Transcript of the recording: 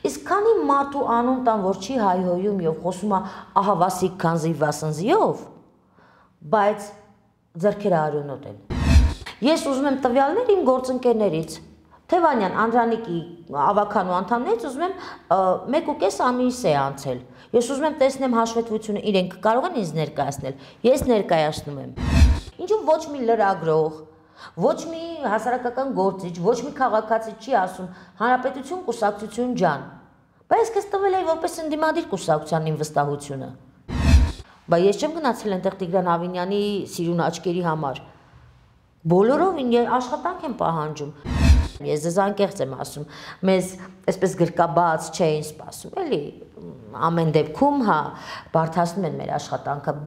Իսկ քանի մարդու անուն տան, որ չի հայհոյում եւ խոսում է ահա Վասիկ Քանզի Վասնզիով, բայց ձեռքերը արյունոտ են։ Ես ուզում եմ տվյալներ իմ գործընկերներից, Թևանյան Անդրանիկի ավականու անդամներից ուզում եմ 1.5 ամիս է անցել։ Ես ուզում եմ տեսնեմ հաշվետվությունը, իրենք կարող են ինձ ներկայացնել, ես ներկայացնում եմ։ Ինչու ոչ մի լրագրող, ոչ մի հասարակական գործիչ, ոչ մի քաղաքացի չի ասում Հանրապետություն կուսակցություն ջան։ Բայց ես տվել էի որպես ընդդիմադիր կուսակցության իմ վստահությունը։ Բայց ես չեմ գնացել այնտեղ Տիգրան Ավինյանի սիրուն աչքերի համար։ Բոլորովին աշխատանք եմ պահանջում։ Ես ձեզ անկեղծ եմ ասում, մեզ այսպես գրկաբաց չէին սպասում, էլի ամեն դեպքում, հա, բարդացնում են մեր աշխատանքը։